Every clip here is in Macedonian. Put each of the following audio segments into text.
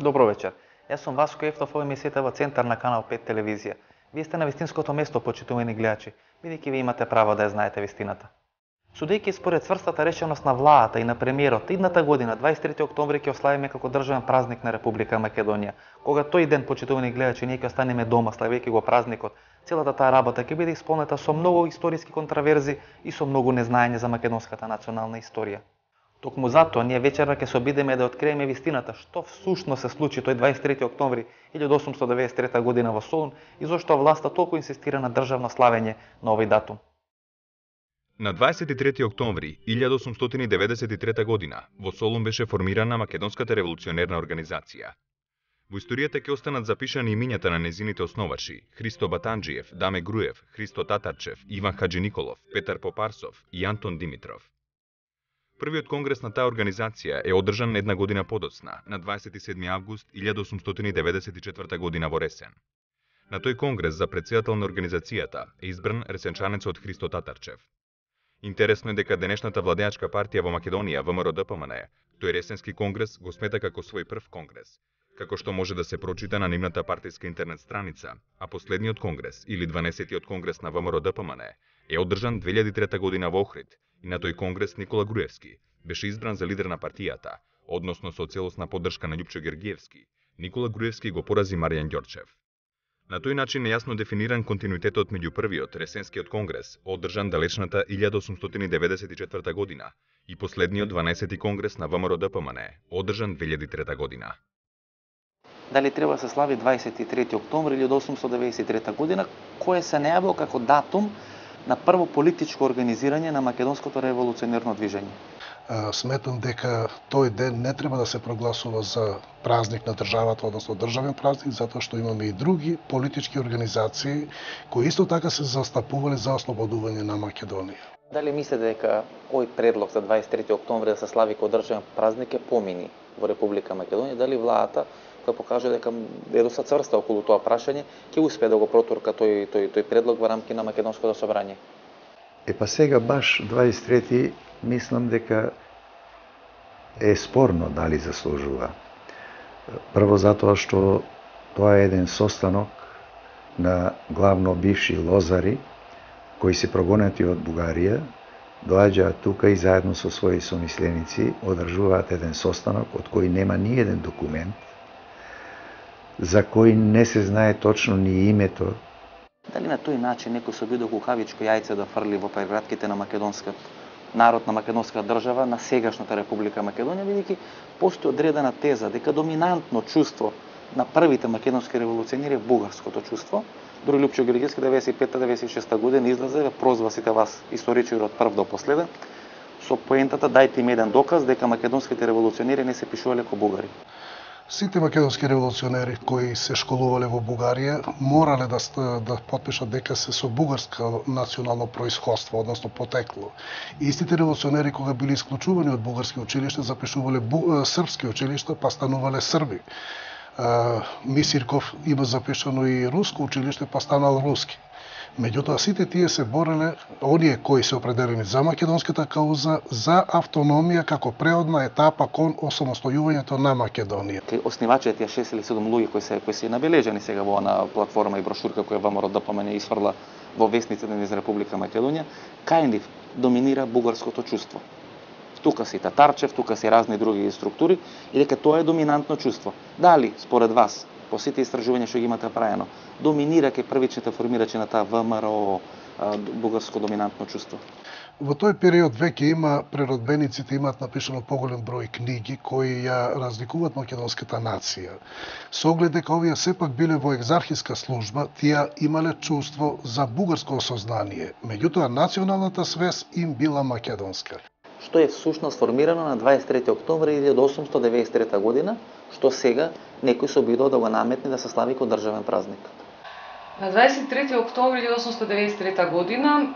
Добро вечер. Јас сум Васко Ефтов, овој емисијата во Центар на Канал 5 телевизија. Вие сте на вистинското место, почитувани гледачи, бидејќи ви имате право да ја знаете вистината. Судејќи според цврстата решеност на владата и на премиерот, идната година, 23 октомври, ќе ославиме како државен празник на Република Македонија. Кога тој ден, почитувани гледачи, ние ќе останеме дома, славејќи го празникот, целата таа работа ќе биде исполнета со многу историски контраверзи и со многу незнаење за македонската национална историја. Токму затоа ние вечерва ќе се обидеме да откриеме вистината што всушност се случи тој 23 октомври 1893 година во Солун и зошто власта толку инсистира на државно славење на овој датум. На 23 октомври 1893 година во Солун беше формирана Македонската револуционерна организација. Во историјата ќе останат запишани имињата на незините основачи: Христо Батанџиев, Даме Груев, Христо Татарчев, Иван Хаджи Николов, Петар Попарсов и Антон Димитров. Првиот конгрес на таа организација е одржан една година подоцна, на 27 август 1894 година во Ресен. На тој конгрес за претседател на организацијата е избран ресенчанецот Христо Татарчев. Интересно е дека денешната владеачка партија во Македонија, ВМРО-ДПМН, тој Ресенски конгрес го смета како свој прв конгрес, како што може да се прочита на нивната партијска интернет страница, а последниот конгрес или 12-тиот конгрес на ВМРО-ДПМН е одржан 2003 година во Охрид и на тој конгрес Никола Груевски беше избран за лидер на партијата, односно со целосна поддршка на Љупчо Гергиевски. Никола Груевски го порази Маријан Ѓорчев. На тој начин е јасно дефиниран континуитетот меѓу првиот Ресенскиот конгрес, одржан далечната 1894 година, и последниот 12-ти конгрес на ВМРО-ДПМН, одржан 2003 година. Дали треба да се слави 23 октомври 1893 година, кој се најавил како датум на прво политичко организирање на македонското револуционерно движење? Сметам дека тој ден не треба да се прогласува за празник на државата, односно државен празник, затоа што имаме и други политички организации кои исто така се застапувале за ослободување на Македонија. Дали мислите дека овој предлог за 23 октомври да се слави како државен празник е помини во Република Македонија? Дали владата, која покаже дека е доста цврста околу тоа прашање, ќе успее да го протурка тој предлог во рамки на Македонското собрање? Па сега баш 23-ти мислам дека е спорно дали заслужува. Прво затоа што тоа е еден состанок на главно бивши лозари кои се прогонети од Бугарија, доаѓаат тука и заедно со своји somисленици одржуваат еден состанок од кој нема ни еден документ, за кој не се знае точно ни името. Дали на тој начин некој се обидел кукавичко јајце да фрли во прегратките на македонскиот народ, на македонска држава, на сегашната Република Македонија, бидејќи постои одредена теза дека доминантно чувство на првите македонски револуционери е бугарското чувство. Дури Љупчо Гергиевски 95-96 година излезе да прозва сите вас историчари од прв до последен со поентата "Дајте им еден доказ дека македонските револуционери не се пишувале како бугари". Сите македонски револуционери кои се школувале во Бугарија морале да потпишат дека се со бугарско национално происходство, односно потекло. Истите револуционери кога били исклучувани од бугарски училишта запишувале српски училишта, па станувале срби. Мисирков има запишано и руско училиште, па станал руски. Меѓутоа сите тие се бореле, оние кои се определени за македонската кауза, за автономија како преодна етапа кон осамостојувањето на Македонија. Оснивачите тие 6 или 7 луѓе кои се набележани сега во на платформа и брошурка која ВМРО-ДПМН изфрла во весниците низ Република Македонија, кај нив доминира бугарското чувство. Тука си Татарчев, тука си разни други структури и дека тоа е доминантно чувство. Дали според вас, по сите истражувања што ги имате правено, доминира кај првичните формирачи на таа ВМРО бугарско доминантно чувство? Во тој период веќе има преродбениците имаат напишано поголем број книги кои ја разликуваат македонската нација. Со оглед дека овие сепак биле во екзархиска служба, тие имале чувство за бугарско осознание, меѓутоа националната свест им била македонска. Што е всушност формирано на 23 октомври 1893 година, што сега некој се обидува да го наметне да се слави како државен празник. На 23 октомври 1893 година,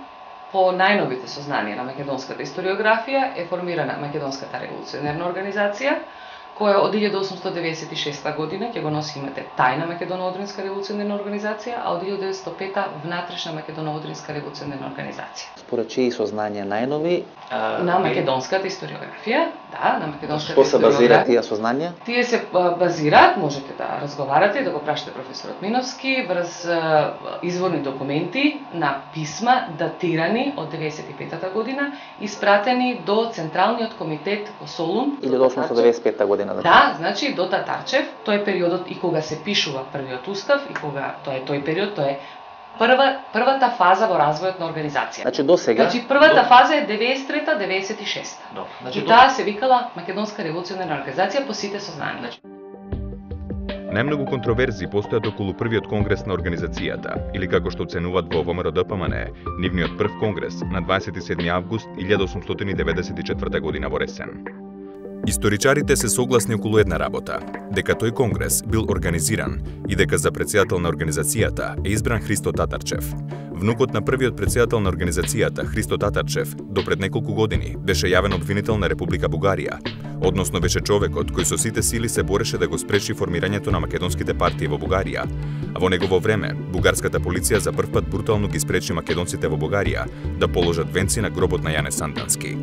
по најновите сознанија на македонската историографија, е формирана Македонската револуционерна организација, која од 1896 година ќе го носи името Тајна Македоно-Одринска револуционерна организација, а од 1905 Внатрешна Македоно-Одринска револуционерна организација. Според чии сознанија најнови на македонската историографија, Да, на македонската Што се базира историографија. тие сознанија? Тие се базираат, можете да разговарате и да го прашате професорот Миновски, врз изворни документи на писма датирани од 95-та година, испратени до Централниот комитет во Солун. 1895 година. Да, значи до Татарчев, тој е периодот и кога се пишува првиот устав и кога тој период, тоа е првата фаза во развојот на организација. Значи до сега. Значи првата фаза е 93-96. Значи И таа се викала Македонска револуционерна организација по сите сознанија. Најмногу контроверзии постојат околу првиот конгрес на организацијата, или како што оценуваат во ВМРО-ДПМН, нивниот прв конгрес на 27 август 1894 година во Ресен. Историчарите се согласни околу една работа, дека тој конгрес бил организиран и дека за претседател на организацијата е избран Христо Татарчев. Внукот на првиот претседател на организацијата, Христо Татарчев, до пред неколку години беше јавен обвинител на Република Бугарија, односно беше човекот кој со сите сили се бореше да го спречи формирањето на македонските партии во Бугарија, а во негово време бугарската полиција за прв пат брутално ги спречи македонците во Бугарија да положат венци на гробот на Јане Сандански.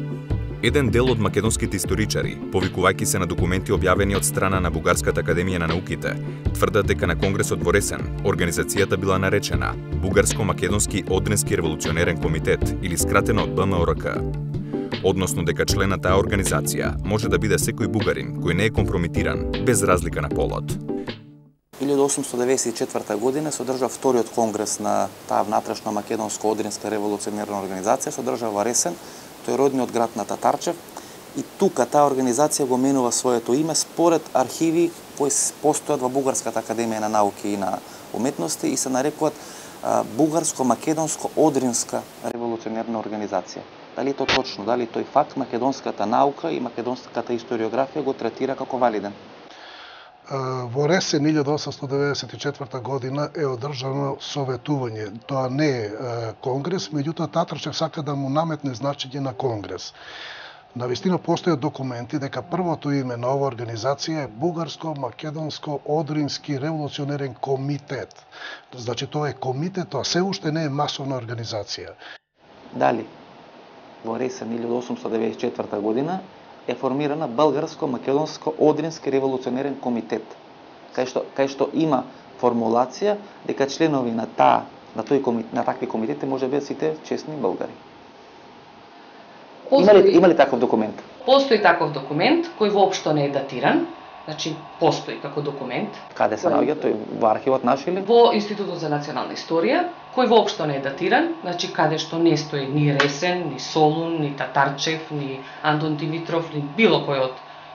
Еден дел од македонските историчари, повикувајќи се на документи објавени од страна на Бугарската академија на науките, тврдат дека на конгресот во Ресен организацијата била наречена Бугарско-македонски одрински револуционерен комитет или скратено БМОРК. Односно дека член на таа организација може да биде секој бугарин кој не е компрометиран без разлика на полот. 1894 година се одржа вториот конгрес на таа внатрешно македонско одринска револуционерна организација, се одржа во Ресен. Тој е родниот град на Татарчев, и тука таа организација го менува своето име според архиви кои постојат во Бугарската академија на науки и на уметности и се нарекуваат Бугарско-македонско одринска револуционерна организација. Дали тоа точно, дали тој факт македонската наука и македонската историографија го третира како валиден? Во Ресен 1894 година е одржано советување. Тоа не е конгрес, меѓутоа Татарчев сака да му наметне значење на конгрес. Навистина постојат документи дека првото име на оваа организација е Бугарско-македонско одрински револуционерен комитет. Значи тоа е комитет, тоа се уште не е масовна организација. Дали во Ресен 1894 година е формирана Българско-македонско одрински револуционерен комитет, кај што има формулација дека членови на такви комитети може да бидат сите честни българи. Има ли таков документ? Постои таков документ кој воопшто не е датиран, значи постои како документ. Каде се наоѓа тој, во архивот наш или? Во Институтот за национална историја, кој воопшто не е датиран, значи каде што не стои ни Ресен, ни Солун, ни Татарчев, ни Антон Димитров, ни било кој од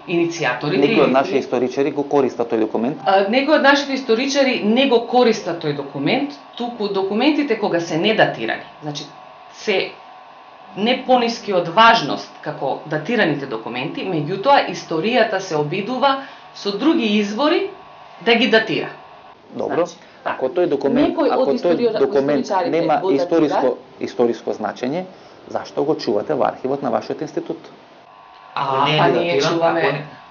иницијаторите. Некои од нашите историчари го користат тој документ? Некои од нашите историчари не го користат тој документ, туку документите кога се недатирани, значи се не пониски од важност како датираните документи, меѓутоа историјата се обидува со други извори да ги датира. Добро. Ако тој документ нема историско значење, зашто го чувате во архивот на вашиот институт?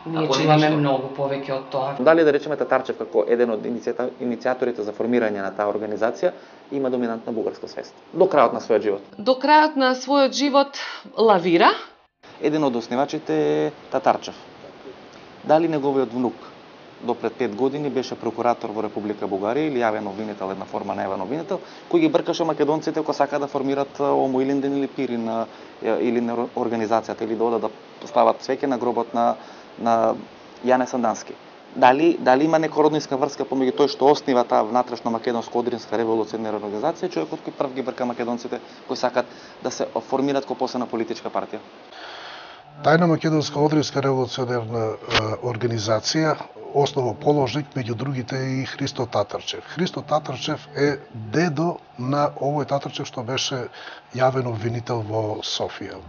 Ние чуваме многу повеќе од тоа. Дали да речеме Татарчев како еден од иницијаторите за формирање на таа организација има доминантна бугарска свест до крајот на својот живот? До крајот на својот живот лавира. Еден од основачите е Татарчев. Дали неговиот внук до пред 5 години беше прокуратор во Република Бугарија или јавен обвинител, една форма на јавен обвинител, кој ги бркаше македонците кои сака да формират Омо Илинден или Пирин или на организацијата или да стават свеќе на гробот на Јане Сандански. Дали има нека роднинска врска помеѓу тој што основа таа внатрешно македонско одринска револуционерна организација, човекот кој прв ги брка македонците кои сакат да се формираат како посебна политичка партија? Тајна македонска одринска револуционерна организација основоположник меѓу другите и Христо Татарчев. Христо Татарчев е дедо на овој Татарчев што беше јавен обвинител во Софија.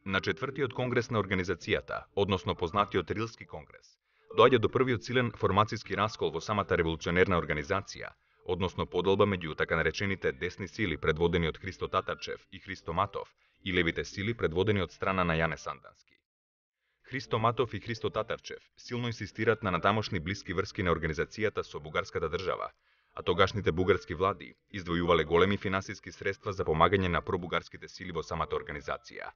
На четвртиот конгрес на организацијата, односно познатиот Рилски конгрес, доаѓа до првиот силен формацијски раскол во самата револуционерна организација, односно поделба меѓу така наречените десни сили предводени од Христо Татарчев и Христо Матов и левите сили предводени од страна на Јане Сандански. Христо Матов и Христо Татарчев силно инсистираат на натамошни блиски врски на организацијата со бугарската држава, а тогашните бугарски влади издвојувале големи финансиски средства за помагање на пробугарските сили во самата организација.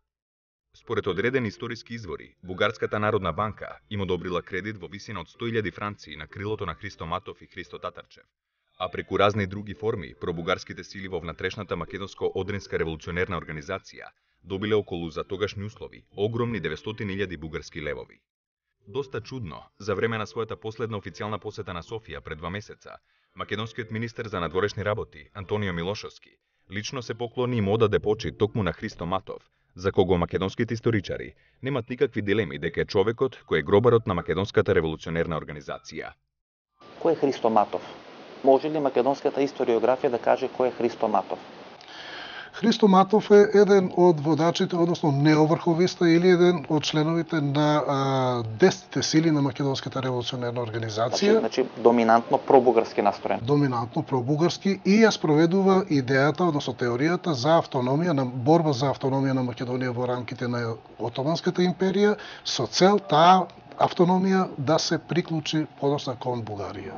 Според одредени историски извори, Бугарската народна банка им одобрила кредит во висина од 100.000 франци на крилото на Христо Матов и Христо Татарчев, а преку разни други форми пробугарските сили во внатрешната македонско-одринска револуционерна организација добиле околу за тогашни услови огромни 900.000 бугарски левови. Доста чудно, за време на својата последна официјална посета на Софија пред 2 месеца, македонскиот министер за надворешни работи Антонио Милошовски лично се поклони и му одаде почит токму на Христо Матов, за кого македонските историчари немат никакви дилеми дека е човекот кој е гробарот на македонската револуционерна организација. Кој е Христо Матов? Може ли македонската историографија да каже кој е Христо Матов? Христо Матов е еден од водачите, односно неоврховиста или еден од членовите на десните сили на македонската револуционерна организација. Значи доминантно пробугарски настроен. Доминантно пробугарски и ја спроведува идејата, односно теоријата за автономија, на борба за автономија на Македонија во рамките на Отоманската империја, со цел таа автономија да се приклучи подоцна кон Бугарија.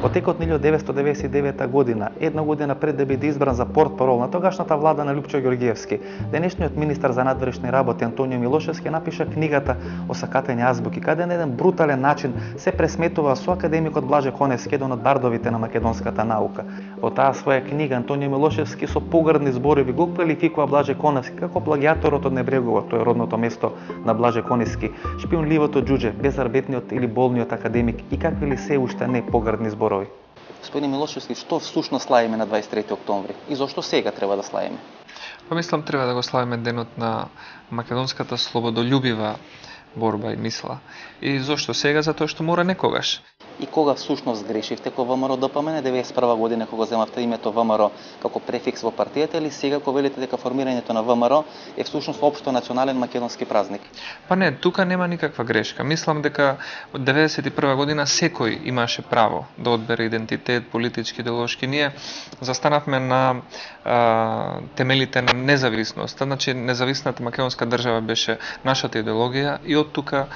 По текот на 1999 година, една година пред да биде избран за портпарол на тогашната влада на Љупчо Ѓорѓиевски, денешниот министар за надворешни работи Антонио Милошевски напиша книгата Осакатени азбуки, каде на еден брутален начин се пресметува со академикот Блаже Коневски, еден од бардовите на македонската наука. Во таа своја книга Антонио Милошевски со погрдни зборови го квалификува Блаже Коневски како плагиаторот од Небрегова, тоа е родното место на Блаже Коневски, шпионливото џуџе, безарбетниот или болниот академик и какви ли се уште не погрдни зборови. Господин Милошевски, што всушност славиме на 23 октомври и зошто сега треба да славиме? Па мислам треба да го славиме денот на македонската слободолюбива борба и мисла. И зошто сега? Затоа што мора некогаш. И кога всушност грешивте кога ВМРО ДПМН 91 година кога земавте името ВМРО како префикс во партијата или сега кога велите дека формирањето на ВМРО е всушност општо национален македонски празник? Па не, тука нема никаква грешка. Мислам дека од 91 година секој имаше право да одбере идентитет, политички, идеолошки. Ние застанавме на темелите на независноста, значи независната македонска држава беше нашата идеологија и од тука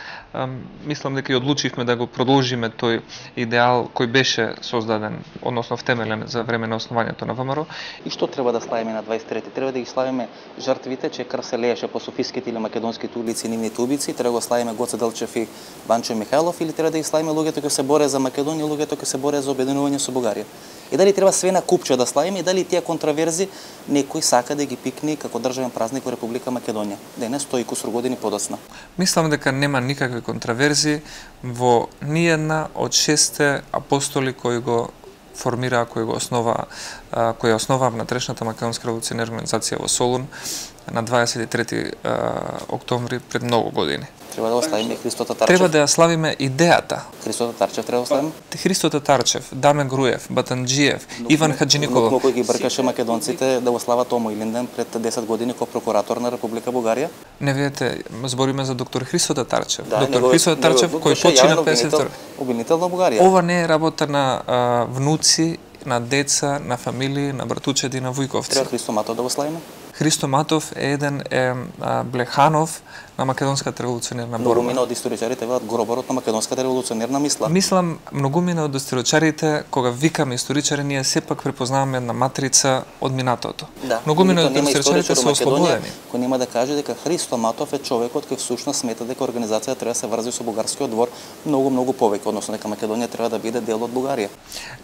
мислам дека и одлучивме да го продолжиме тој идеал кој беше создаден, односно втемелен за време на основањето на ВМРО. И што треба да славиме на 23-ти? Треба да ги славиме жртвите, че крв се лееше по софиските или македонските улици и нивните убици, треба да го славиме Гоце Делчев и Банчо Михајлов, или треба да ги славиме луѓето кои се боре за Македонија, луѓето кои се боре за обединување со Бугарија? И дали треба све на купче да славиме и дали тие контраверзи некој сака да ги пикне како државен празник во Република Македонија? Денес 100 и кусур години подоцна. Мислам дека нема никакви контраверзи во ниедна од 6 апостоли кои го формираа, кои ја основаа внатрешната македонска револуционерна организација во Солун на 23 октомври пред многу години. Треба да го славиме Христо Татарчев. Треба да ја славиме идејата. Христо Татарчев треба да славиме? Христо Татарчев, Даме Груев, Батанџиев, Иван Хаџиниколов. Но кој ги бркаше македонците да го слават Омо Илинден пред 10 години како прокуратор на Република Бугарија? Не видите, збориме за доктор Христо Татарчев. Да, доктор Христо Татарчев кој почина 52. Обвинител на Бугарија. Ова не е работа на внуци, на деца, на фамилии, на братучеди, на вујковци. Треба Христо Матов да го славиме? Христо Матов е еден Блеханов на македонската револуционерна борба. Многумина од историчарите велат гробарот на македонската револуционерна мисла. Мислам, многумина од историчарите, кога викаме историчари, ние сепак препознаваме една матрица од минатото. Да, многумина од историчарите се ослободени. Кој нема да каже дека Христо Матов е човекот кој всушност смета дека организацијата треба да се врзи со бугарскиот двор многу повеќе, односно дека Македонија треба да биде дел од Бугарија.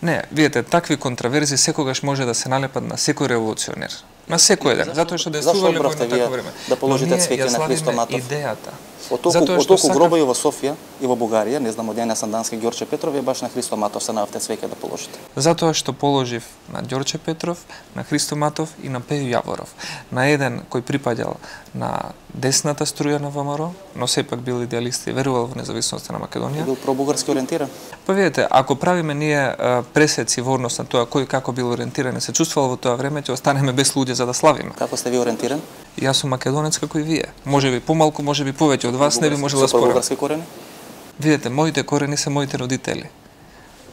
Не, видите, такви контраверзи секогаш може да се налепат на секој револуционер. На секој еден, затоа што действувале во такво време. Да положите цвеќе на Христо Матов. Идејата. Од толку гробови во Софија и во Бугарија, не знам од Јане Сандански, Ѓорче Петров, е баш на Христо Матов се наавте цвеќе да положите. Затоа што положив на Ѓорче Петров, на Христо Матов и на Пејо Јаворов. На еден кој припаѓал на десната струја на ВМРО, но сепак бил идеалист и верувал во независноста на Македонија. Бил пробугарски ориентиран. Па видите, ако правиме ние пресеци во однос на тоа кој како бил ориентиран и се чувствувал во тоа време, ќе останеме без луѓе за да славиме. Како сте ви ориентиран? Јас сум македонец како и вие. Може би помалку, може би повеќе од вас, не би можел да спорам. Пробугарски корени? Видите, моите корени се моите родители.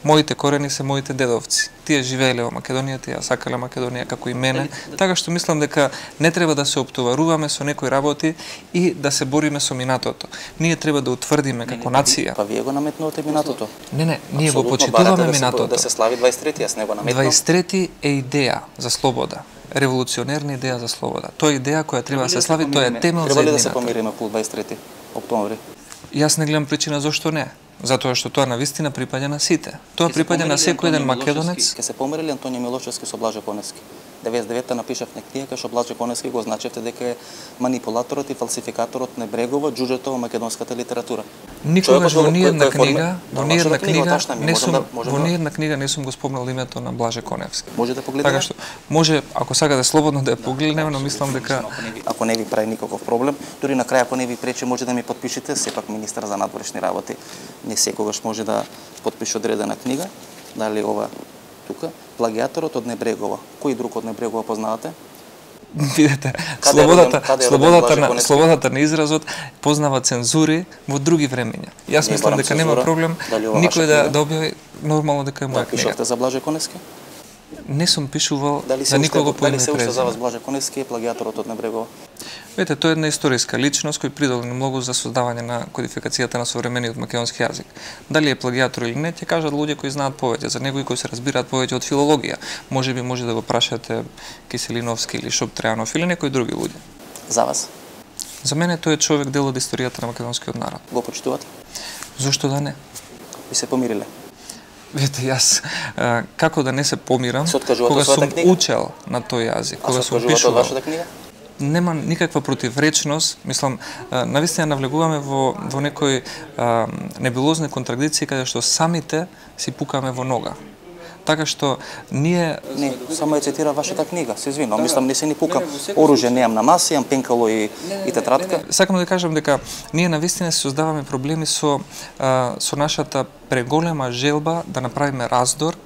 моите корени се моите дедовци. Тие живееле во Македонија, тие сакале Македонија како и мене, така што мислам дека не треба да се оптоваруваме со некои работи и да се бориме со минатото. Ние треба да утврдиме како нација. Па вие го наметнувате минатото. Не, ние го почитуваме минатото. Да се слави 23-ти, јас не го наметнувам. 23-ти е идеја за слобода. Револуционерна идеја за слобода. Тоа е идеја која треба да се слави, тоа е темел за Треба ли да еднината. се помириме по 23 октомври? Јас не гледам причина зошто не. Затоа што тоа навистина припаѓа на сите. Тоа припаѓа на секој еден македонец. Ке се помирили Антонио Милошевски со Блаже Коневски. 99-та напишавме книга кај што Блаже Коневски го означевте дека е манипулаторот и фалсификаторот на Брегова, џуџето во македонската литература. Никогаш во ниедна книга, во ниедна книга не сум го спомнал името на Блаже Коневски. Може да погледнете. Така што може, ако сакате слободно да ја погледнеме, но мислам дека ако не ви прави никаков проблем, дури на крај ако не ви пречи може да ми подпишете, сепак министар за надворешни работи не секогаш може да подпише одредена книга, дали ова тука, плагиаторот од Небрегова. Кој друг од Небрегова познавате? видете, слободата на изразот познава цензури во други времења. Јас мислам дека нема проблем никој да објави нормално дека е моја книга. Пишавте за Блаже Коневски? Не сум пишувал за никого по име Дали се уште за вас презиме. Блаже Коневски е плагиаторот од Небрегова? Видете, тоа е една историска личност кој придобил многу за создавање на кодификацијата на современиот македонски јазик. Дали е плагиатор или не, ќе кажат луѓе кои знаат повеќе, за него и кои се разбираат повеќе од филологија. Можеби може да го прашате Киселиновски или Шоптреанов или некои други луѓе. За вас? За мене тој е човек дел од историјата на македонскиот народ. Го почитувате? Зошто да не? Ви се помириле? Видите, јас како да не се помирам Се откажувате кога од својата сум книга? учел на тој јазик, А кога се сум откажувате од пишувал. вашата книга? Нема никаква противречност, мислам, навистина навлегуваме во некои небулозни контрадикции каде што самите си пукаме во нога. Така што ние Не, само ја цитира вашата книга, се извинувам, мислам не се ни пукам. Оружје неам на маси, имам пенкало и тетрадка. сакам да кажам дека ние навистина се создаваме проблеми со нашата преголема желба да направиме раздор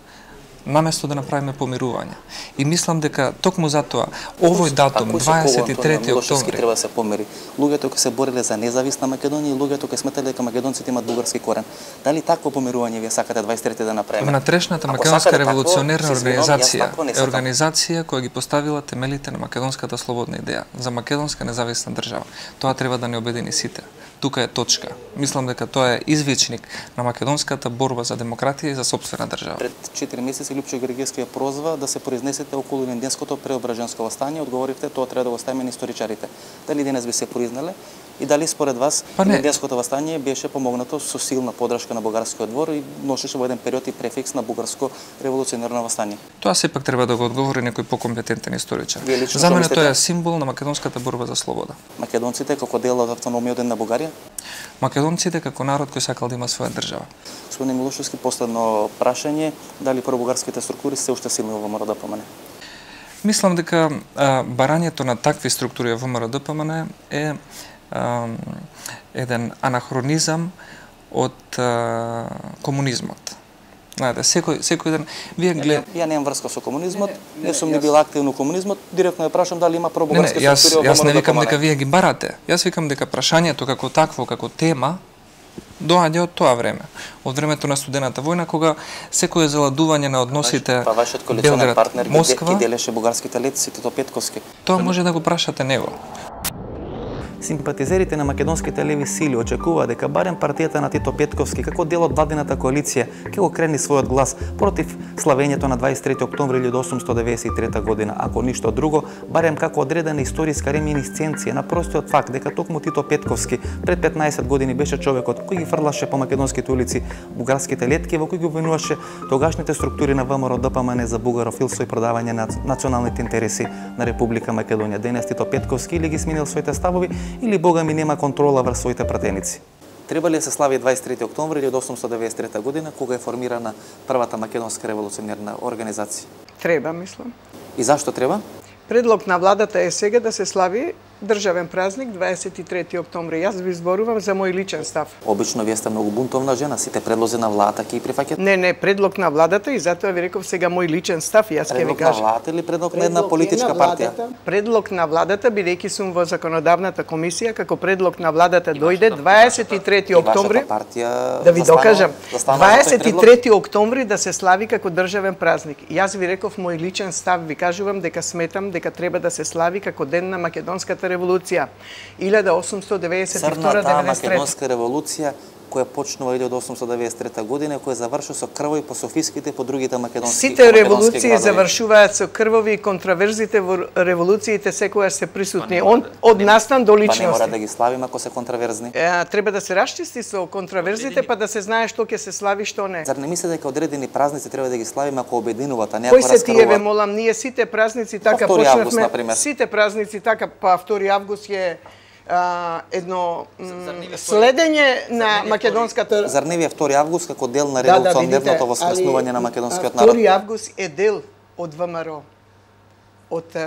наместо да направиме помирување. И мислам дека токму затоа овој датум 23 Милошевски октомври треба да се помири. Луѓето кои се бореле за независна Македонија и луѓето кои сметале дека македонците имаат бугарски корен. Дали такво помирување вие сакате 23 да направиме? Внатрешната Ако македонска сакате револуционерна такво, се извинувам, јас организација такво не е сакам. организација која ги поставила темелите на македонската слободна идеја за македонска независна држава. Тоа треба да не обедини сите. Тука е точка. Мислам дека тоа е извичник на македонската борба за демократија и за сопствена држава. Пред 4 месеци Лјупчо Гергевски ја прозва да се произнесете околу Илинденското преображенско востание, одговоривте тоа треба да го ставиме на историчарите. Дали денес би се признале и дали според вас Илинденското востание беше помогнато со силна поддршка на бугарскиот двор и носеше во еден период и префикс на бугарско револуционерно востание? Тоа сепак треба да го одговори некој покомпетентен историчар. Вие лично За што мене мислите? тоа е символ на македонската борба за слобода. Македонците како дел од автономијата на Бугарија? Македонците како народ кој сакал да има своја држава. Господин Милошевски, последно прашање, дали пробугарските структури се уште силни во ВМРО-ДПМН? Мислам дека барањето на такви структури во ВМРО-ДПМН е еден анахронизам од комунизмот. Знаете, секој ден вие Ја немам врска со комунизмот, не сум ни била активно комунизмот, директно ја прашам дали има пробугарски структури во јас не викам ВМРО-ДПМН. дека вие ги барате. Јас викам дека прашањето како такво, како тема доаѓа од тоа време, од времето на студената војна, кога секое заладување на односите Па вашиот коалиционен партнер Москва, ги делеше бугарските летци, Тито Петковски. тоа може да го прашате него. Симпатизерите на македонските леви сили очекува дека барем партијата на Тито Петковски како дел од владината коалиција ќе го крени својот глас против славењето на 23 октомври 1893 година, ако ништо друго, барем како одредена историска реминисценција на простиот факт дека токму Тито Петковски пред 15 години беше човекот кој ги фрлаше по македонските улици бугарските летки во кои ги обвинуваше тогашните структури на ВМРО-ДПМН за бугарофилство и продавање на националните интереси на Република Македонија. Денес Тито Петковски или ги сменил своите ставови или Бога ми нема контрола врз своите пратеници. Треба ли да се слави 23 октомври 1893 година, кога е формирана првата македонска револуционерна организација? Треба, мислам. И зашто треба? Предлог на владата е сега да се слави државен празник 23 октомври. Јас ви зборувам за мој личен став. Обично вие сте многу бунтовна жена, сите предлози на владата ќе ги прифаќате? Не, предлог на владата и затоа ви реков сега мој личен став, јас ќе ви кажам. Предлог на владата или предлог на една политичка партија? Предлог на владата, бидејќи сум во законодавната комисија, како предлог на владата дојде 23 октомври. Да ви докажам. 23 октомври да се слави како државен празник. Јас ви реков мој личен став, ви кажувам дека сметам дека треба да се слави како ден на македонската револуција. 1892-93. Црната македонска револуција која почнува 1893 година и која завршува со крвови по софиските и по другите македонски градови. Сите револуции завршуваат со крвови и контраверзите во револуциите секогаш се присутни од настан до личности. Па не мора да ги славиме ако се контраверзни. Треба да се расчисти со контраверзите па да се знае што ќе се слави, што не. Зар не мислите дека одредени празници треба да ги славиме ако обединуваат, а не ако раскрвуваат? Кои се тие, ве молам, ние сите празници така почнавме. Сите празници така, па 2 август е едно следење на македонската... Зар не ви е 2 август како дел на револуционерното воскреснување на македонскиот народ? 2 август е дел од ВМРО, од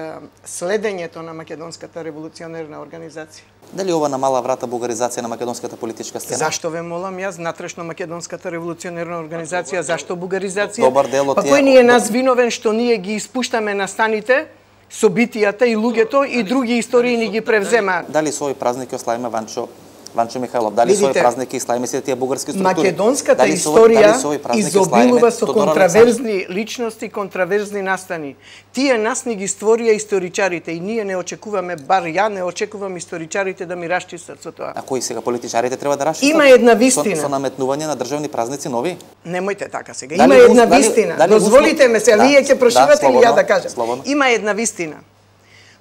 следењето на македонската револуционерна организација. Дали ова намала врата бугаризација на македонската политичка сцена? Зашто ве молам јас, натрешно македонската револуционерна организација, зашто бугаризација? Добар дел од тие... Па кој ни е нас виновен што ние ги испуштаме на станите? Собитијата и луѓето и други истории ни ги превземаат. Дали со овој празник ќе славиме Ванчо Михајлов? Дали со овој празник ќе славиме сите тие бугарски структури? Македонската историја изобилува со контраверзни личности, контраверзни настани. Тие нас ни ги створија историчарите и ние не очекуваме, бар ја не очекувам историчарите да ми расчистат со тоа. А кои сега политичарите треба да расчистат? Има една вистина. Со наметнување на државни празници нови? Немојте така сега. Има една вистина. Дозволите ме се, вие ќе прошивате или ја да кажам. Има една вистина.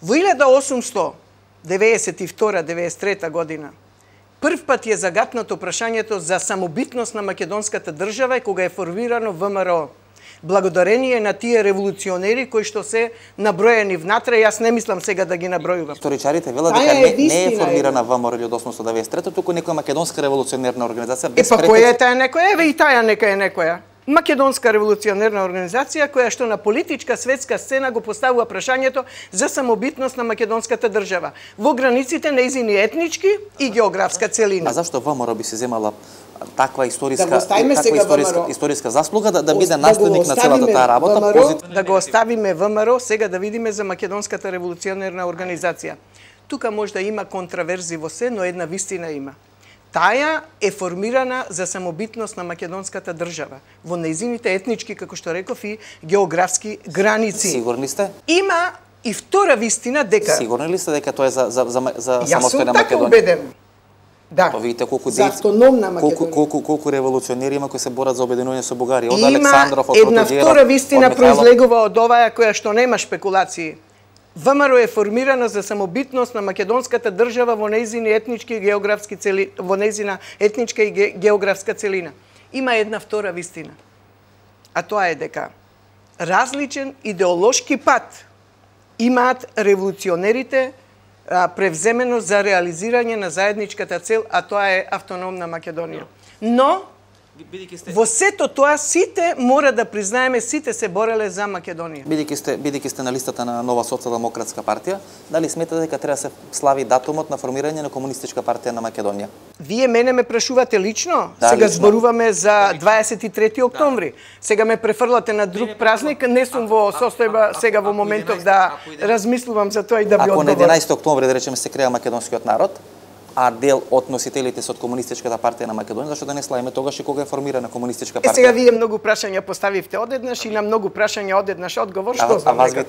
Во 1892-93 година прв пат е загатнато прашањето за самобитност на македонската држава и кога е формирано ВМРО. Благодарение на тие револуционери кои што се наброени внатре, јас не мислам сега да ги набројувам. Историчарите велат дека не е формирана ВМРО од 1893, туку некоја македонска револуционерна организација без претекст. Па која е таа некоја? Еве и таа нека е некоја. Македонска револуционерна организација која што на политичка светска сцена го поставува прашањето за самобитност на македонската држава во границите нејзини етнички и географска целина. А зашто ВМРО би се земала таква историска заслуга да биде наследник на целата таа работа? Да го оставиме ВМРО, сега да видиме за македонската револуционерна организација. Тука може да има контраверзи во се, но една вистина има. Таја е формирана за самобитност на македонската држава во нејзините етнички, како што реков, и географски граници. Сигурни сте? Има и втора вистина дека... Сигурни ли сте дека тоа е за самостојна Македонија? Јас сум така убеден. Да. Па видите колку за автономна Македонија. Колку револуционери има кои се борат за обединување со Бугарија, од Александров, од Протоџеров. Една втора вистина произлегува од оваа која што нема шпекулации. ВМРО е формирана за самобитност на македонската држава во нејзини етнички и географски во нејзина етничка и географска целина. Има една втора вистина. А тоа е дека различен идеолошки пат имаат револуционерите превземено за реализирање на заедничката цел, а тоа е автономна Македонија. Но во сето тоа сите мора да признаеме, сите се бореле за Македонија. Бидејќи сте на листата на Нова социјалдемократска партија, дали сметате дека треба да се слави датумот на формирање на комунистичка партија на Македонија? Вие мене ме прашувате лично? Да, сега лично. зборуваме за 23 октомври. Сега ме префрлате на друг празник, не сум во состојба сега во моментов да размислувам за тоа и да ви одговорам. Ако на 11 октомври, да речеме, се креа македонскиот народ, а дел од носителите се од комунистичката партија на Македонија, зашто да не славиме тогаш и кога е формирана комунистичка партија? Сега вие многу прашања поставивте одеднаш и на многу прашања одеднаш одговор, што знам. А вас ви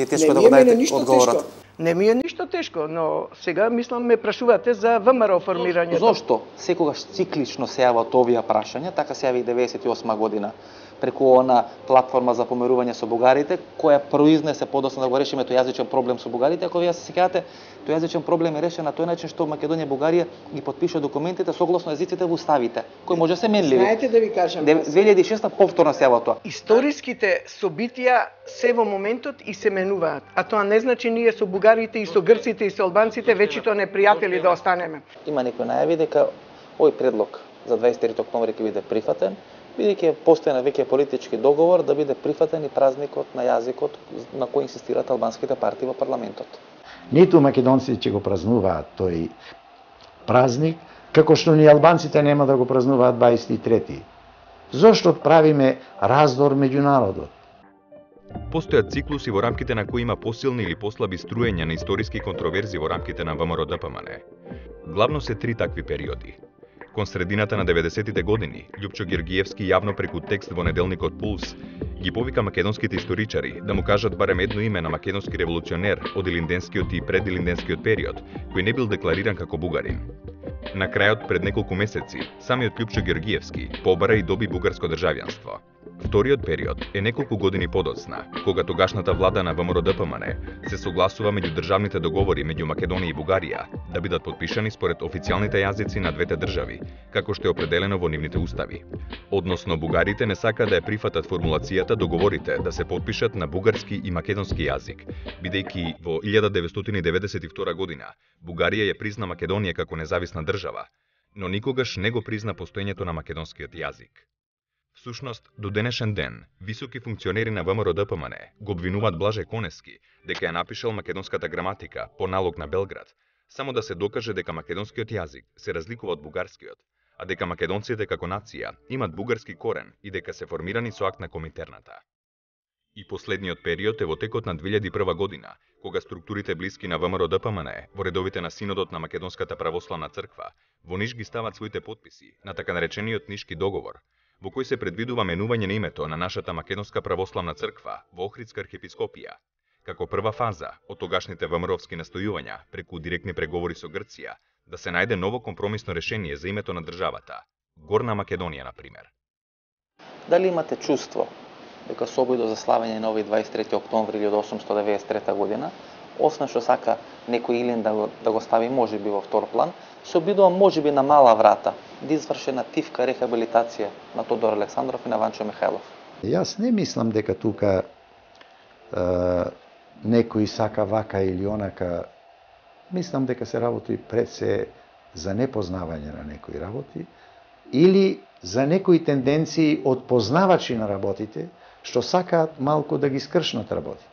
е тешко да го дадете одговорот? Не ми е ништо тешко, но сега мислам ме прашувате за ВМРО формирањето. Зошто секогаш циклично се јават овие прашања, така се јави 98 година преку она платформа за помирување со бугарите, која произнесе подоцна да го решиме тој јазичен проблем со бугарите. Ако вие се сеќавате, тој јазичен проблем е решен на тој начин што Македонија и Бугарија ги потпиша документите согласно езиците во уставите, кои може се менливи. Знаете да ви кажам. 2006 повторно се јава тоа. Историските собитија се во моментот и се менуваат, а тоа не значи ние со бугарите и со грците и со албанците вечито непријатели да останеме. Има некои најави дека овој предлог за 23 октомври ќе биде прифатен, бидејќи постојан веќе политички договор да биде прифатен и празникот на јазикот на кој инсистираат албанските партии во парламентот. Ниту македонците ќе го празнуваат тој празник, како што ни албанците нема да го празнуваат 23. Зошто правиме раздор меѓу народот? Постојат циклуси во рамките на кои има посилни или послаби струења на историски контроверзи во рамките на ВМРО-ДПМН. Главно се 3 такви периоди. Кон средината на 90-тите години, Љупчо Георгиевски јавно преку текст во неделникот Пулс ги повика македонските историчари да му кажат барем едно име на македонски револуционер од илинденскиот и предилинденскиот период, кој не бил деклариран како бугарин. На крајот, пред неколку месеци, самиот Љупчо Георгиевски побара и доби бугарско државјанство. Вториот период е неколку години подоцна, кога тогашната влада на ВМРО-ДПМН се согласува меѓу државните договори меѓу Македонија и Бугарија да бидат подпишани според официјалните јазици на двете држави, како што е определено во нивните устави. Односно, бугарите не сакаат да ја прифатат формулацијата договорите да се подпишат на бугарски и македонски јазик, бидејќи во 1992 година Бугарија ја призна Македонија како независна држава, но никогаш не го призна постоењето на македонскиот јазик. Всушност, до денешен ден, високи функционери на ВМРО-ДПМН го обвинуваат Блаже Конески дека ја напишал македонската граматика по налог на Белград, само да се докаже дека македонскиот јазик се разликува од бугарскиот, а дека македонците како нација имат бугарски корен и дека се формирани со акт на Коминтерната. И последниот период е во текот на 2001 година, кога структурите блиски на ВМРО-ДПМН во редовите на Синодот на Македонската православна црква во Ниш ги стават своите подписи на така наречениот Нишки договор, во кој се предвидува менување на името на нашата Македонска православна црква во Охридска архиепископија, како прва фаза од тогашните ВМРО-вски настојувања преку директни преговори со Грција да се најде ново компромисно решение за името на државата, Горна Македонија, на пример. Дали имате чувство дека со обидот за славење на овој 23 октомври 1893 година, освен што сака некој Илин да го стави можеби во втор план, се обидува можеби на мала врата да изврши на тивка рехабилитација на Тодор Александров и на Ванчо Михајлов? Јас не мислам дека тука некој сака вака или онака. Мислам дека се работи пред се за непознавање на некои работи или за некои тенденции од познавачи на работите што сакаат малку да ги скршнат работите.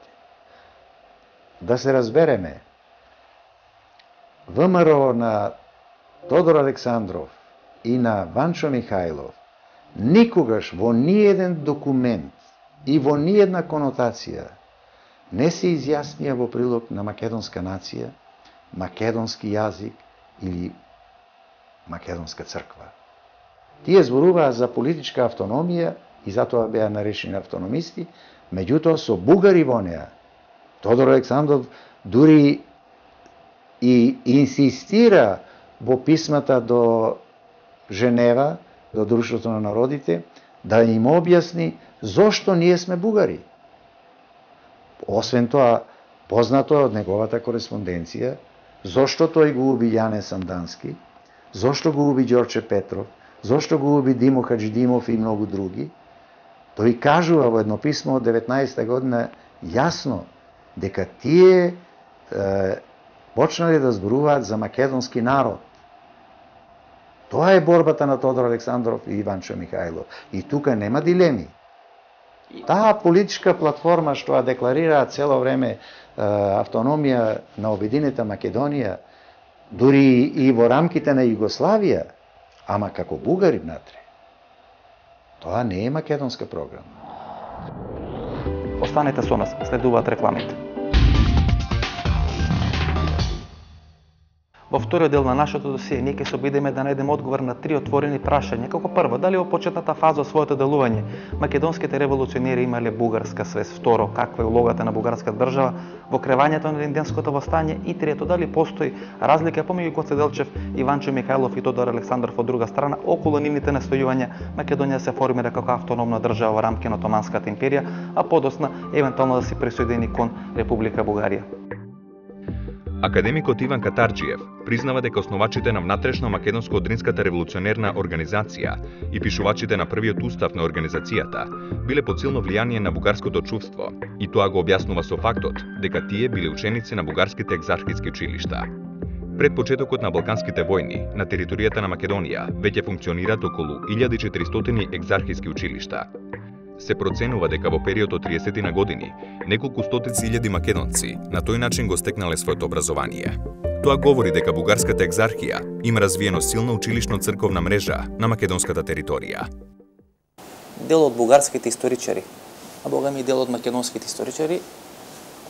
Да се разбереме, ВМРО на Тодор Александров и на Ванчо Михајлов никогаш во ниеден документ и во ниедна конотација не се изјаснија во прилог на македонска нација, македонски јазик или македонска црква. Тие зборуваа за политичка автономија и затоа беа наречени автономисти, меѓутоа со бугари во неа. Тодор Александров дури и инсистира во писмата до Женева, до Друштвото на народите, да им објасни зошто ние сме бугари. Освен тоа, познато од неговата кореспонденција, зошто тој го уби Јане Сандански, зошто го уби Ѓорче Петров, зошто го уби Димо Хаджидимов и многу други. Тој кажува во едно писмо од 19 година јасно дека тие почнале да зборуваат за македонски народ. Тоа е борбата на Тодор Александров и Ванчо Михајлов. И тука нема дилеми. Таа политичка платформа што ја декларираа цело време автономија на обединета Македонија, дури и во рамките на Југославија, ама како бугари внатре. Тоа не е македонска програма. Останете со нас, следуваат рекламите. Во вториот дел на нашето досие ние ќе се обидеме да најдеме одговор на 3 отворени прашања. Како прво, дали во почетната фаза од своето делување македонските револуционери имале бугарска свест? Второ, каква е улогата на бугарската држава во кревањето на илинденското востање? И трето, дали постои разлика помеѓу Гоце Делчев и Ванчо Михајлов и Тодор Александров од друга страна околу нивните настојувања Македонија се формира како автономна држава во рамки на Отоманската империја, а подосна евентуално да се присоедини кон Република Бугарија. Академикот Иван Катарџиев признава дека основачите на внатрешно-македонско-одринската револуционерна организација и пишувачите на првиот устав на организацијата биле под силно влијание на бугарското чувство и тоа го објаснува со фактот дека тие биле ученици на бугарските екзархиски училишта. Пред почетокот на Балканските војни, на територијата на Македонија веќе функционираат околу 1400 екзархиски училишта. Се проценува дека во период од 30 на години неколку стотици илјади македонци на тој начин го стекнале своето образование. Тоа говори дека бугарската екзархија има развиено силна училишно црковна мрежа на македонската територија. Дел од бугарските историчари, а богами и дел од македонските историчари,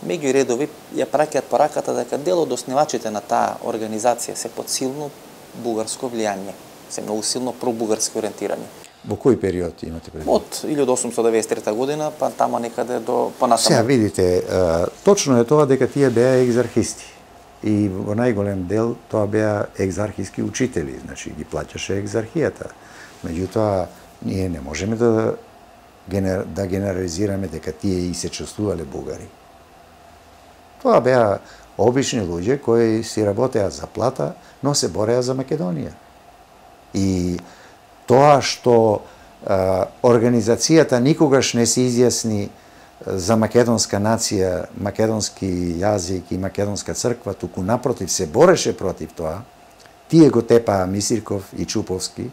меѓу редови ја праќаат пораката дека дел од основачите на таа организација се под силно бугарско влијание, се многу силно пробугарски ориентирани. Во кој период имате предвид? Од 1893 година, па тамо некаде до понатаму. Сега видите, точно е тоа дека тие беа екзархисти. И во најголем дел тоа беа екзархиски учители, значи ги плаќаше екзархијата. Меѓутоа, ние не можеме да генерализираме дека тие и се чувствувале бугари. Тоа беа обични луѓе кои си работеа за плата, но се бореа за Македонија. И тоа што организацијата никогаш не се изјасни за македонска нација, македонски јазик и македонска црква, туку напротив се бореше против тоа, тие го тепаа Мисирков и Чуповски,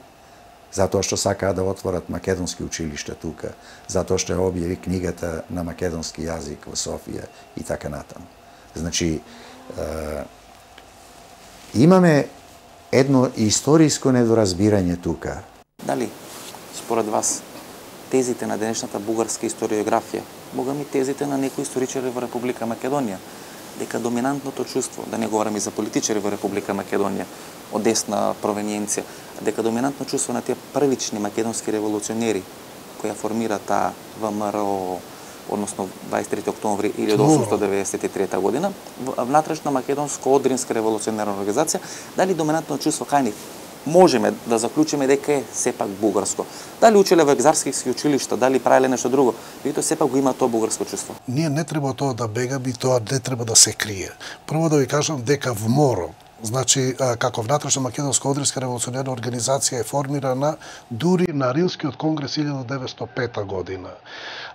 затоа што сакаа да отворат македонски училишта тука, затоа што ја објави книгата на македонски јазик во Софија и така натаму. Значи, имаме едно историско недоразбирање тука. Дали, според вас, тезите на денешната бугарска историографија, богами тезите на некои историчари во Република Македонија, дека доминантното чувство, да не говорам и за политичари во Република Македонија, од десна провениенција, дека доминантно чувство на тие првични македонски револуционери, кои ја формира таа ВМРО, односно 23 октомври 1893 година, внатрешна македонско-одринска револуционерна организација, дали доминантно чувство кај нив можеме да заклучиме дека е сепак бугарско. Дали учеле во екзархиски училишта, дали правеле нешто друго, меѓутоа сепак го има тоа бугарско чувство. Ние не треба тоа да бегаме и тоа не треба да се крие. Прво да ви кажам дека ВМОРО, значи како внатрешна македонско-одринска револуционерна организација е формирана дури на Рилскиот конгрес 1905 година.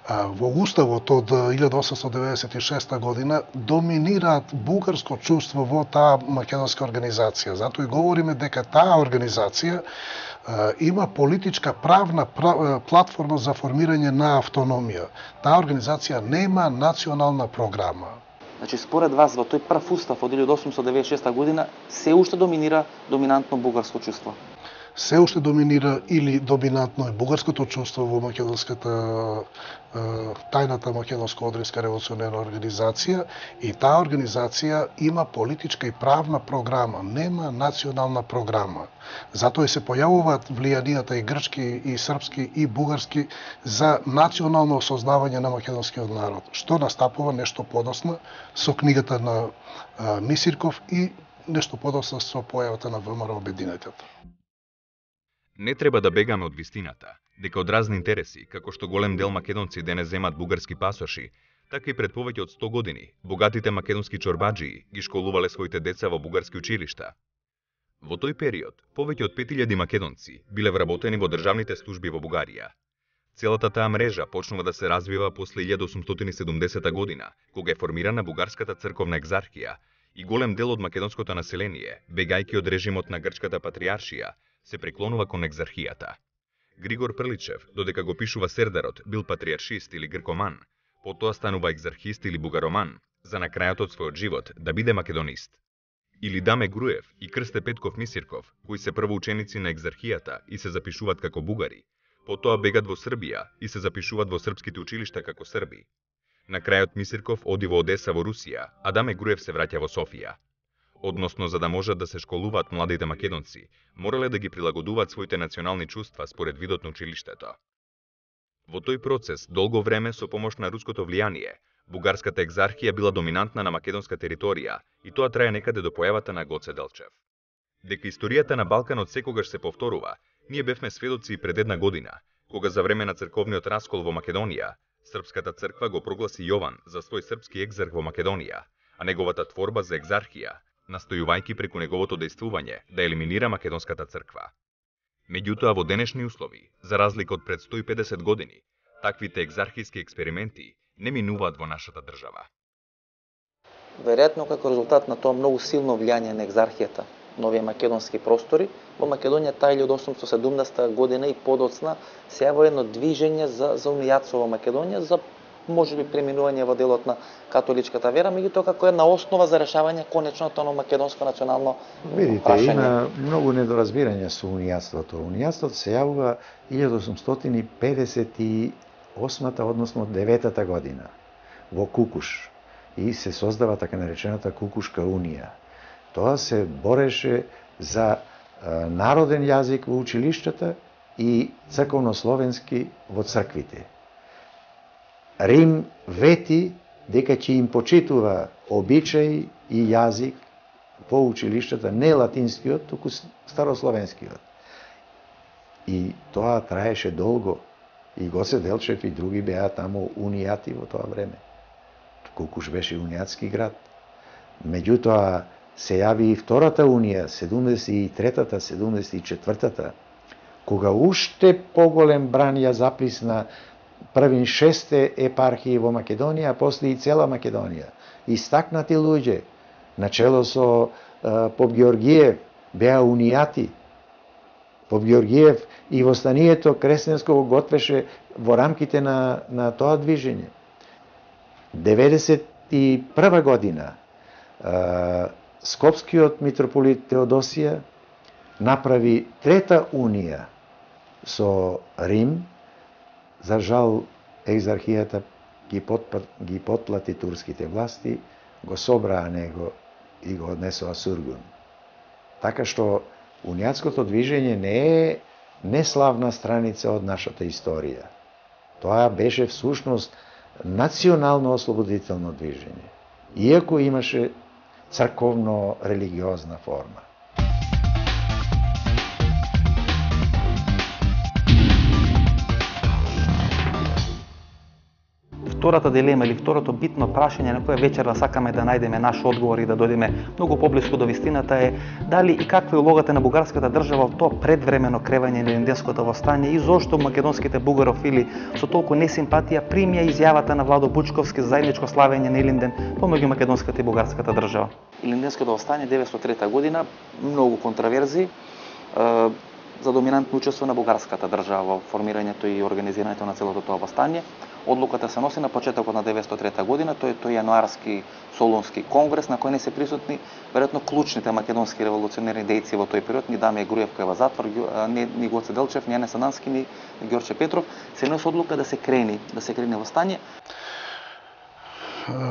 Во уставот од 1896 година доминираат бугарско чувство во таа македонска организација. Затоа и говориме дека таа организација има политичка правна платформа за формирање на автономија. Таа организација нема национална програма. Значи, според вас, во тој прв устав од 1896 година се уште доминира доминантно бугарско чувство? Се уште доминира или доминантно е бугарското чувство во македонската тајната македонско-одринска револуционерна организација и таа организација има политичка и правна програма, нема национална програма. Затоа и се појавуваат влијанијата и грчки, и српски, и бугарски за национално осознавање на македонскиот народ, што настапува нешто подоцна со книгата на Мисирков и нешто подоцна со појавата на ВМРО Обединетата. Не треба да бегаме од вистината, дека од разни интереси, како што голем дел македонци денес земат бугарски пасоши, така и пред повеќе од 100 години, богатите македонски чорбаџии ги школувале своите деца во бугарски училишта. Во тој период, повеќе од 5000 македонци биле вработени во државните служби во Бугарија. Целата таа мрежа почнува да се развива после 1870 година, кога е формирана бугарската црковна екзархија и голем дел од македонското население, бегајќи од режимот на грчката патриаршија, се преклонува кон екзархијата. Григор Прличев, додека го пишува Сердарот, бил патриаршист или гркоман, потоа станува екзархист или бугароман, за на крајот од својот живот да биде македонист. Или Даме Груев и Крсте Петков Мисирков, кои се прво ученици на екзархијата и се запишуваат како бугари, потоа бегат во Србија и се запишуваат во српските училишта како срби. На крајот Мисирков оди во Одеса во Русија, а Даме Груев се враќа во Софија. Односно, за да можат да се школуваат младите македонци, морале да ги прилагодуваат своите национални чувства според видот на училиштето. Во тој процес, долго време со помош на руското влијание, бугарската екзархија била доминантна на македонска територија и тоа трае некаде до појавата на Гоце Делчев. Дека историјата на Балканот секогаш се повторува, ние бевме сведоци и пред една година, кога за време на црковниот раскол во Македонија, Српската црква го прогласи Јован за свој српски екзарх во Македонија, а неговата творба за екзархија, настојувајќи преку неговото дејствување да елиминира македонската црква. Меѓутоа, во денешни услови, за разлика од пред 150 години, таквите екзархиски експерименти не минуваат во нашата држава. Веројатно како резултат на тоа многу силно влијание на екзархијата, на овие македонски простори. Во Македонија таа 1817 година и подоцна се јавува едно движење за унијатство во Македонија, за можеби преминување во делот на католичката вера, меѓутоа како една основа за решавање конечното на македонско национално прашање. Има многу недоразбирање со унијатството. Унијатството се јавува 1858 односно 9-та година во Кукуш и се создава така наречената Кукушка унија. Тоа се бореше за народен јазик во училиштата и црковнословенски во црквите. Рим вети дека ќе им почитува обичај и јазик по училиштата, не латинскиот, туку старословенскиот. И тоа траеше долго. И Гоце Делчев и други беа таму унијати во тоа време. Кукуш беше унијатски град. Меѓутоа се јави и втората унија, 73-та, 74-та, кога уште поголем бран ја заплисна првин 6 епархии во Македонија, а после и цела Македонија. Истакнати луѓе, начело со Поп Георгиев, беа унијати. Поп Георгиев и востанието кресенско го готвеше во рамките на тоа движење. 91 година Скопскиот митрополит Теодосија направи трета унија со Рим. За жал, екзархијата ги потплати турските власти, го собраа него и го однесоа Сургун. Така што унијатското движење не е неславна страница од нашата историја. Тоа беше всушност национално ослободително движење, иако имаше црковно-религиозна форма. Втората дилема или второто битно прашање на која вечерва сакаме да најдеме наш одговор и да дојдеме многу поблиску до вистината е дали и каква е улогата на бугарската држава во тоа предвремено кревање на Илинденското востание и зошто македонските бугарофили со толку несимпатија примија изјавата на Владо Бучковски за заедничко славење на Илинден помеѓу македонската и бугарската држава. Илинденското востание 903 година, многу контраверзи за доминантно учество на бугарската држава во формирањето и организирањето на целото тоа востание. Одлуката се носи на почетокот на 903 година, тој е јануарски Солунски конгрес на кој не се присутни веројатно клучните македонски револуционерни дејци во тој период, ни Дамија Груевка во затвор, ни Гоце Делчев, ни Јане Санански, ни Ѓорче Петров, се носи одлука да се крени востание.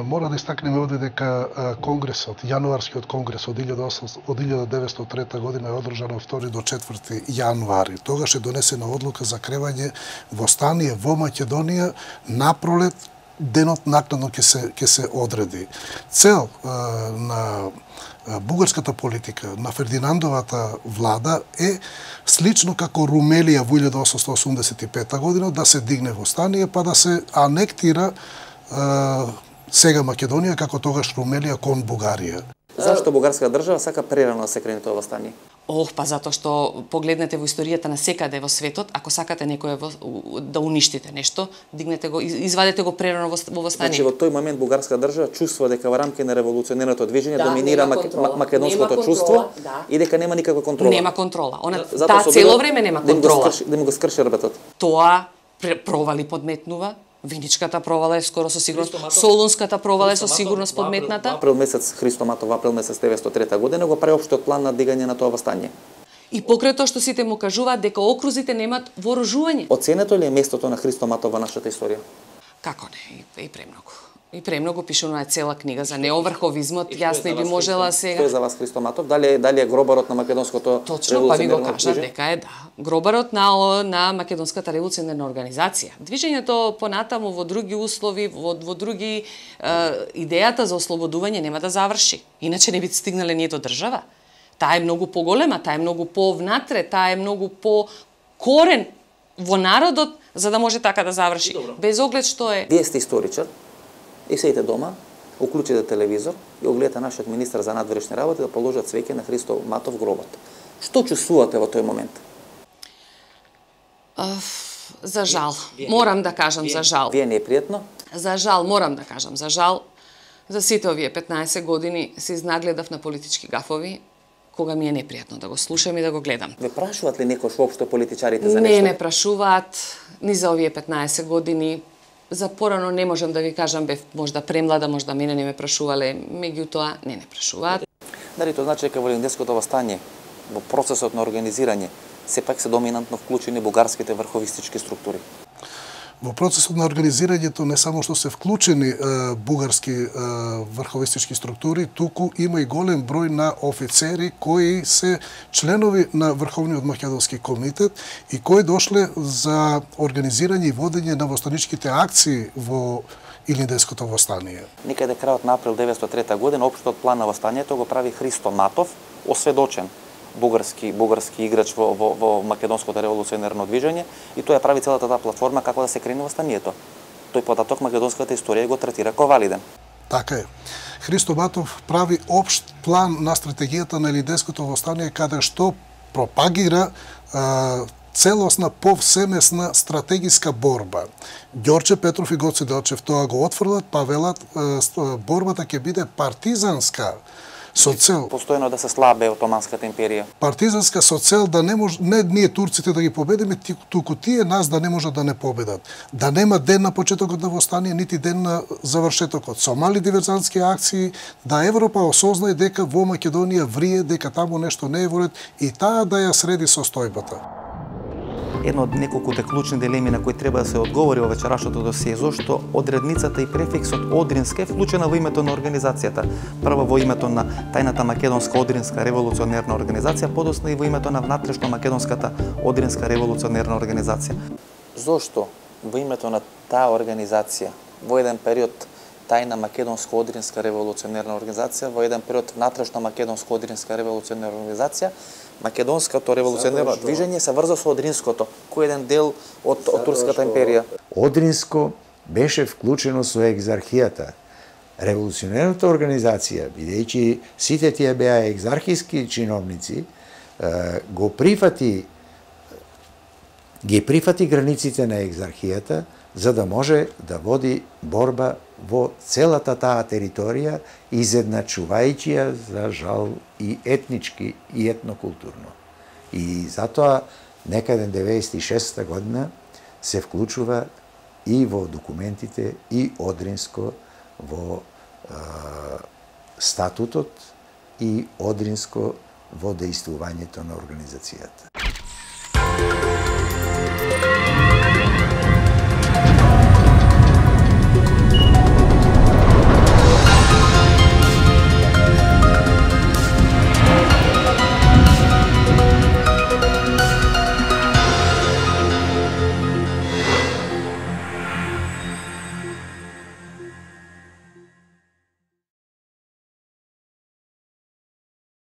Мора да истакнеме овде дека конгресот, јануарскиот конгрес од 1903 година е одржан од 2 до 4 јануари. Тогаш е донесена одлука за кревање востание во Македонија напролет, денот накнадно ќе се одреди. Цел на бугарската политика, на Фердинандовата влада е слично како Румелија во 1885 година да се дигне востание па да се анектира сега Македонија, како тогаш Румелија кон Бугарија. Зашто бугарска држава сака прерано да се крени тоа востание? Па затоа што погледнете во историјата на секаде во светот, ако сакате некој да уништите нешто, дигнете го, извадете го прерано во востание. Значи во тој момент бугарска држава чувствува дека во рамки на револуционерното движење доминира македонското чувство и дека нема никаква контрола. Нема контрола. Таа цело време нема контрола. Да му го скрши работот. Тоа провали подметнува. Виничката провала е скоро со сигурност, Солунската провала е со сигурност подметната. Април месец Христо Матов, април месец 903 година го прави општиот план на дигање на тоа востание. И покрај тоа што сите му кажуваат дека окрузите немаат вооружување. Оценето ли е местото на Христо Матов во нашата историја? Како не, и премногу. И премногу пишувана е цела книга за неоврховизмот, јас не би можела сега. Кој е за вас Христо Матов? Дали е гробарот на македонското Точно, па ми го кажа дека е гробарот на македонската револуционерна организација. Движењето понатаму во други услови, во други идејата за ослободување нема да заврши. Иначе не би стигнале ние до држава. Таа е многу поголема, таа е многу повнатре, таа е многу по корен во народот за да може така да заврши. Без оглед што е. Вие сте историчар. И седите дома, уклучите телевизор и огледате нашиот министар за надворешни работи да положат цвеќе на Христо Матов гробот. Што чувствувате во тој момент? За жал. Морам да кажам за жал. Вие не е пријатно? За жал, морам да кажам за жал. За сите овие 15 години се изнагледав на политички гафови кога ми е непријатно да го слушам и да го гледам. Ве прашуваат ли некош воопшто политичарите за нешто? нешто? Не прашуваат, ни за овие 15 години. За порано не можам да ви кажам, бев можда премлада, можда мене не ме прашувале, меѓутоа не прашуваат. Дали тоа значи дека во Илинденското востание, во процесот на организирање, сепак се доминантно вклучени бугарските врховистички структури? Во процесот на организирањето не само што се вклучени бугарски врховистички структури, туку има и голем број на офицери кои се членови на Врховниот македонски комитет и кои дошле за организирање и водење на востаничките акции во Илинденското востание. Некаде крајот на април 1903 година општиот план на востанието го прави Христо Матов, осведочен бугарски играч во македонското револуционерно движење, и тој ја прави целата таа платформа како да се крени востанието. Тој податок македонската историја го третира како валиден. Така е. Христо Матов прави општ план на стратегијата на Илинденското востание каде што пропагира целосна повсемесна стратегиска борба. Ѓорче Петров и Гоце Делчев тоа го отфрлат, па велат борбата ќе биде партизанска со цел постојано да се слабе Отоманската империја. Партизанска со цел да не може не ние турците да ги победиме, туку тие нас да не можат да не победат. Да нема ден на почетокот на востание, нити ден на завршетокот. Со мали диверзантски акции да Европа осознае дека во Македонија врие, дека таму нешто не е во ред и таа да ја среди состојбата. Едно од неколкуте клучни дилеми на кои треба да се одговори во вечерашното досие, зошто одредницата и префиксот Одринска е вклучена во името на организацијата. Прво во името на тајната македонска Одринска револуционерна организација, подоцна и во името на внатрешно македонската Одринска револуционерна организација. Зошто во името на таа организација во еден период тајна македонска Одринска револуционерна организација, во еден период внатрешно македонска Одринска револуционерна организација, македонското револуционерно движење се врза со Одринското, кој е еден дел од Турската империја. Одринско беше вклучено со екзархијата. Револуционерната организација, бидејќи сите тие беа екзархиски чиновници, ги прифати границите на екзархијата, за да може да води борба во целата таа територија, изедначувајќи ја, за жал, и етнички, и етнокултурно. И затоа, некаде 96 година, се вклучува и во документите, и Одринско во статутот, и Одринско во дејствувањето на организацијата.